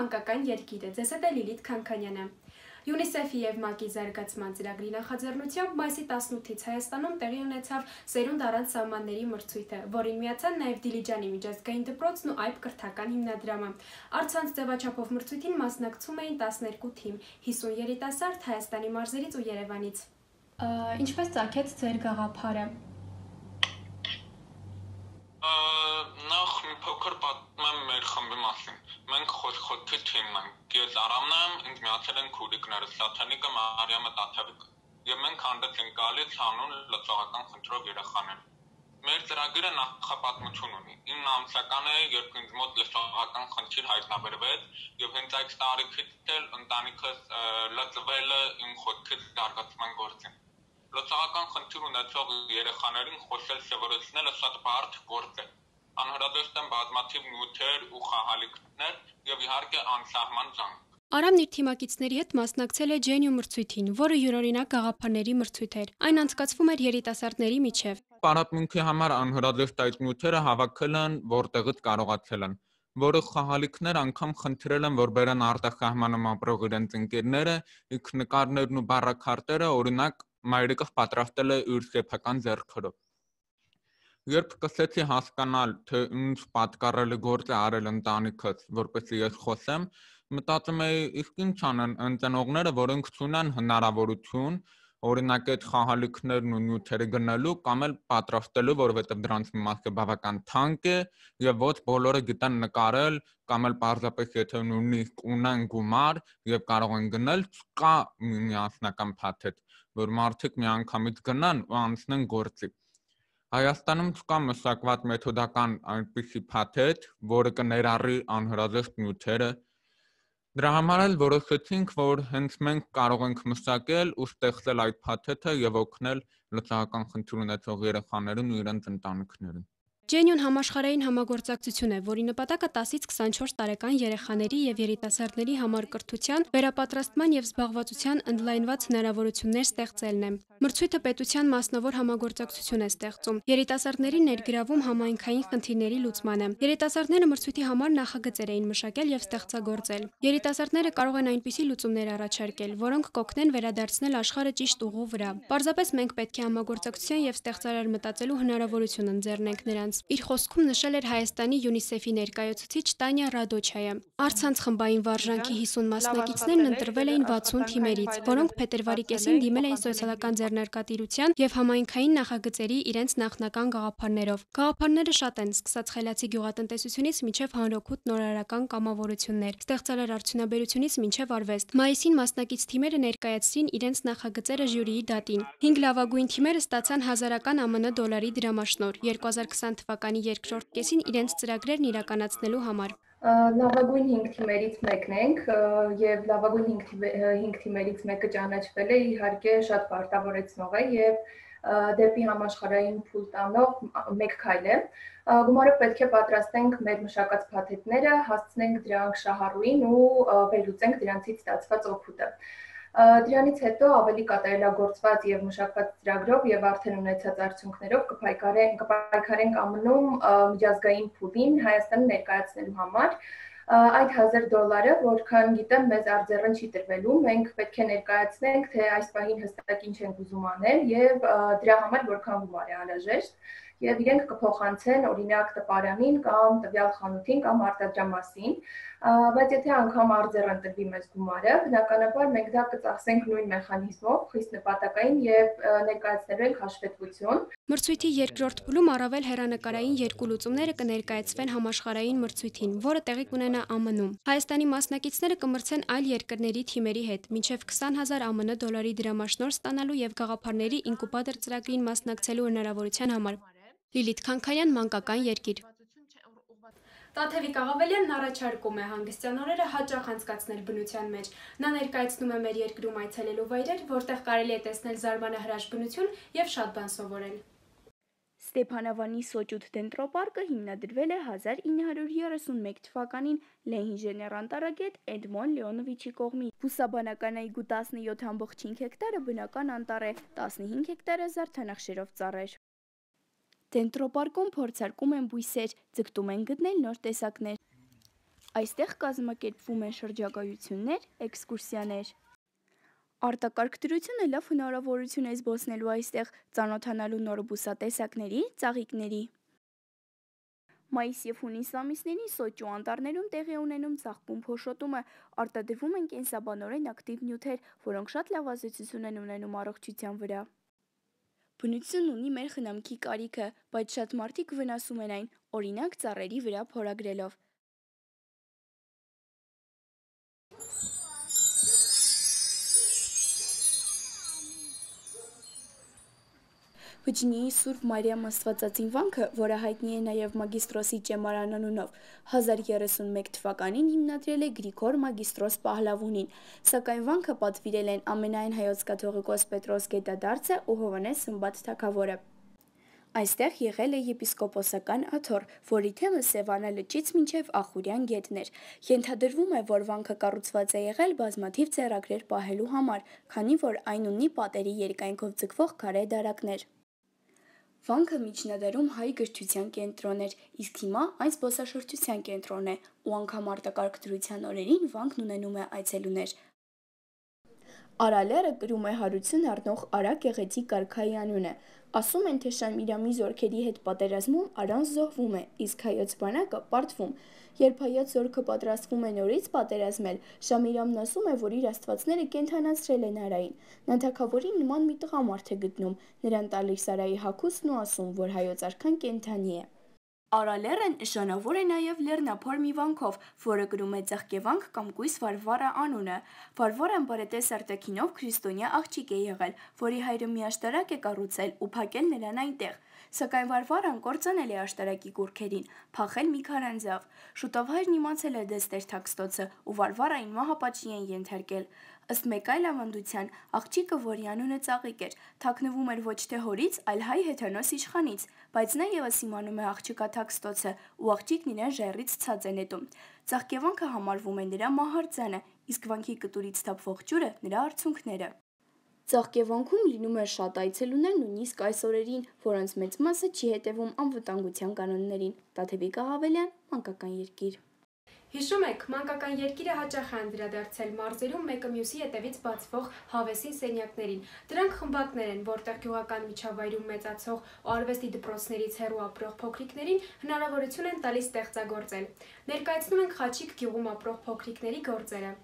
մանկական երկիրը, ձեզ հետ է Լիլիթ Քանքանյանը։ UNICEF-ի և ՄԱԿ-ի զարգացման ծրագրի նախաձեռնությամբ մայիսի 18-ից Հայաստանում տեղի ունեցավ «Սերունդ առանց սահմանների» մրցույթը, որին միացան նաև Դիլիջանի միջազգային դպրոցն ու ԱՅՊ կրթական հիմնադրամը։ Առցանց ձևաչափով մրցույթին մասնակցում էին 12 թիմ, 50 երիտասարդ Հայաստանի մարզերից ու Երևանից։ Ինչպես ծագեց ձեր գաղափարը։ Նախ մի փոքր պատմեմ մեր խմբի մասին։ Մենք խոցքի թիմն ենք։ Ես Արամն եմ, ինձ միացել են քուրիկները Սաթանիկը, Մարիամը, Տաթևիկը։ Եվ մենք հանդես ենք գալիս հանուն լծողական խնդրով երեխաներ։ Մեր ծրագիրը նախապատմություն ունի։ 9 ամսական է, երբ ինձ մոտ լծողական խնդիր հայտնաբերվեց, եւ հենց այդ տարիքից էլ ընտանիքս լծվել է իմ խոցքից զարգացման գործին։ Լծողական խնդիր ունեցող երեխաներին խոսել սովորեցնելը շատ բարդ գործ է։ Անհրաժեշտ են բազմաթիվ նյութեր ու խաղալիքներ եւ իհարկե անսահման ջանք։ Արամն իր թիմակիցների հետ մասնակցել է Genius մրցույթին, որը յուրօրինակ գաղափարների մրցույթ էր։ Այն անցկացվում էր երիտասարդների միջև։ Պարապմունքի համար անհրաժեշտ այդ նյութերը հավաքել են, որտեղից կարողացել են։ Որը խաղալիքներ անգամ խնդրել են, որ բերեն արտասահմանում ապրող իրենց ընկերները, իսկ նկարներն ու բառաքարտերը, օրինակ, մայրիկը պատրաստել է իր սեփական ձեռքերով։ Երբ սկսեցի հասկանալ, թե ինչ պատկառելի գործ է արել ընտանիքս, որպեսզի ես խոսեմ, մտածում էի, իսկ ինչ անեն ընկերները, որոնք չունեն հնարավորություն, օրինակ այդ խաղալիքներն ու նյութերը գնելու կամ էլ պատրաստելու, որովհետև դրանց մի մասը բավական թանկ է եւ ոչ բոլորը գիտեն նկարել կամ էլ պարզապես եթե նույնիսկ ունեն գումար եւ կարող են գնել, կա միասնական փաթեթ, որ մարդիկ միանգամից գնան ու անցնեն գործի։ Հայաստանում չկա մշակված մեթոդական այնպիսի փաթեթ, որը կներառի անհրաժեշտ նյութերը։ Դրա համար էլ որոշեցինք, որ հենց մենք կարող ենք մշակել ու ստեղծել այդ փաթեթը եւ օգնել լծողական խնդիր ունեցող երեխաներին ու իրենց ընտանիքներին։ Genius համաշխարհային համագործակցություն է, որի նպատակը 10-ից 24 տարեկան երեխաների եւ երիտասարդների համար կրթության, վերապատրաստման եւ զբաղվածության ընդլայնված հնարավորություններ ստեղծելն է։ Մրցույթը պետության մասնավոր համագործակցություն է ստեղծում։ Երիտասարդներին ներգրավում համայնքային խնդիրների լուծմանը։ Երիտասարդները մրցույթի համար նախագծեր էին մշակել եւ ստեղծագործել։ Երիտասարդները կարող են այնպիսի լուծումներ առաջարկել, որոնք կօգնեն վերադարձնել աշխարհը ճիշտ ուղու վրա։ Պարզապես մենք պետք է համագործակցության եւ ստեղծարար մտածելու հնարավորություն ընձեռնենք նրանց։ Իր խոսքում նշել էր Հայաստանի UNICEF-ի ներկայացուցիչ Տանյա Ռադոչայը։ Առցանց խմբային վարժանքի 50 մասնակիցներն ընտրվել էին 60 թիմերից, որոնք փետրվարի կեսին դիմել էին սոցիալական ձեռնարկատիրության եւ համայնքային նախագծերի իրենց նախնական գաղափարներով։ Գաղափարները շատ են, սկսած խելացի գյուղատնտեսությունից մինչև հանրօգուտ նորարարական կամավորություններ, ստեղծարար արդյունաբերությունից մինչև արվեստ։ Մայիսին մասնակից թիմերը ներկայացրին իրենց նախագծերը ժյուրիի դատին։ 5 լավագույն թիմերը ստացան $1000 ԱՄՆ դրամաշնորհ 2020 թվականի երկրորդ կեսին իրենց ծրագրերն իրականացնելու համար։ Լավագույն 5 թիմերից մեկն ենք եւ լավագույն 5 թիմերից մեկը ճանաչվել է, իհարկե շատ պարտավորեցնող է եւ դեպի համաշխարհային փուլ տանող մեկ քայլ է։ Գումարը պետք է պատրաստենք մեր մշակած փաթեթները, հասցնենք դրանք շահառուին ու վերլուծենք դրանցից ստացված օգուտը։ Դրանից հետո ավելի կատարելագործված եւ մշակված ծրագրով եւ արդեն ունեցած արդյունքներով կպայքարենք ԱՄՆ-ում միջազգային փուլին Հայաստանը ներկայացնելու համար։ Այդ $1000, որքան գիտեմ, մեզ արձեռն չի տրվելու, մենք պետք է ներկայացնենք, թե այս պահին հստակ ինչ ենք ուզում անել եւ դրա համար որքան գումար է անհրաժեշտ եւ իրենք կփոխանցեն օրինակ տպարանին կամ տվյալ խանութին կամ արտադրամասին, բայց եթե անգամ արձեռն տրվի մեզ գումարը, բնականաբար մենք դա կծախսենք նույն մեխանիզմով, խիստ նպատակային եւ ներկայացնելու ենք հաշվետվություն։ Մրցույթի երկրորդ փուլում առավել հեռանկարային երկու լուծումները կներկայացվեն համաշխարհային մրցույթին, որը տեղի կունենա ԱՄՆ-ում։ Հայաստանի մասնակիցները կմրցեն այլ երկրների թիմերի հետ, մինչև $20,000 ԱՄՆ դրամաշնորհ ստանալու եւ գաղափարների ինկուբատոր ծրագրին մասնակցելու հնարավորության համար։ Լիլիթ Քանքանյան, Մանկական երկիր։ Տաթևիկ Աղավելյանն առաջարկում է հանգստյան օրերը հաճախ անցկացնել բնության մեջ։ Նա ներկայացնում է մեր երկրում այցելելու վայրեր, որտեղ կարելի է տեսնել զարմանահրաշ բնություն եւ շատ բան սովորել։ Ստեփանավանի Սոճուտ դենտրոպարկը հիմնադրվել է 1931 թվականին լեհ-ինժեներ անտարագետ Էդմոն Լեոնովիչի կողմից։ Բուսաբանական այգու 17.5 հեկտարը բնական անտառ է, 15 հեկտարը զարդանախշերով ծառեր։ Դենտրոպարկում փորձարկում են բույսեր, ձգտում են գտնել նոր տեսակներ։ Այստեղ կազմակերպվում են շրջագայություններ, էքսկուրսիաներ։ Արտակարգ դրությունը լավ հնարավորություն է զբոսնելու այստեղ, ծանոթանալու նոր բուսատեսակների, ծաղիկների։ Մայիս և հունիս ամիսներին Սոճու անտառներում տեղի ունենում ծաղկում փոշոտումը, արտադրվում են կենսաբանորեն ակտիվ նյութեր, որոնք շատ լավ ազդեցություն են ունենում առողջության վրա։ Բնությունն ունի մեր խնամքի կարիքը, բայց շատ մարդիկ վնասում են այն, օրինակ ծառերի վրա փորագրելով։ Վջնիի Սուրբ Մարիամ Աստվածածին վանքը, որը հայտնի է նաև Մագիստրոսի ճեմարան անունով, 1031 թվականին հիմնադրել է Գրիգոր Մագիստրոս Պահլավունին, սակայն վանքը պատվիրել են ամենայն հայոց կաթողիկոս Պետրոս Գետադարձը ու Հովհաննես Սմբատ թագավորը։ Այստեղ եղել է եպիսկոպոսական աթոռ, որի թեմը Սևանա լճից մինչև Ախուրյան գետն էր։ Ենթադրվում է, որ վանքը կառուցված է եղել բազմաթիվ ձեռագրեր պահելու համար, քանի որ այն ունի պատերի երկայնքով ձգվող քարե դարակներ։ Վանքը միջնադարում հայ գրչության կենտրոն էր, իսկ հիմա այն զբոսաշրջության կենտրոն է, ու անգամ արտակարգ դրության օրերին վանքն ունենում է այցելուներ։ Արալերը կրում է հարություն առնող Արա գեղեցիկ արքայի անունը։ Ասում են, թե Շամիրամի զորքերի հետ պատերազմում Արան զոհվում է, իսկ հայոց բանակը պարտվում։ Երբ հայոց զորքը պատրաստվում է նորից պատերազմել, Շամիրամն ասում է, որ իր աստվածները կենդանացրել են Արային։ Նա թագավորին նման մի տղամարդ է գտնում, նրան տալիս Արայի հագուստն ու ասում, որ հայոց արքան կենդանի է։ Արալերը նշանավոր է նաև լեռնափոր մի վանքով, որը կրում է Ծաղկևանք կամ կույս Վարվարա անունը։ Վարվարան բարետես արտաքինով քրիստոնյա աղջիկ է եղել, որի հայրը մի աշտարակ է կառուցել ու փակել նրան այնտեղ։ Սակայն Վարվարան կործանել է աշտարակի կուռքերին, փախել մի քարանձավ։ Շուտով հայրն իմացել է դստեր Թաքստոցը ու Վարվարային մահապատժի են ենթարկել։ Ըստ մեկ այլ ավանդության, աղջիկը, որի անունը Ծաղիկ էր, թաքնվում էր ոչ թե հորից, այլ հայ հեթանոս իշխանից, բայց նա ևս իմանում է աղջկա Թաքստոցը, ու աղջիկն իրեն ժայռից ցած է նետում։ Ծաղկևանքը համարվում է նրա մահարձանը, իսկ վանքի կտուրից թափվող ջուրը նրա արցունքները։ Ծաղկևանքում լինում է շատ այցելուներ նույնիսկ այս օրերին, որոնց մեծ մասը չի հետևում անվտանգության կանոններին։ Տաթևիկ Ահավելյան, Մանկական երկիր։ Հիշում եք, Մանկական երկիրը հաճախ է անդրադարձել մարզերում մեկը մյուսի հետևից բացվող հավեսին սենյակներին։ Դրանք խմբակներ են, որտեղ գյուղական միջավայրում մեծացող ու արվեստի դպրոցներից հեռու ապրող փոքրիկներին հնարավորություն են տալիս ստեղծագործել։ Ներկայացնում ենք Խաչիկ գյուղում ապրող փոքրիկների գործերը։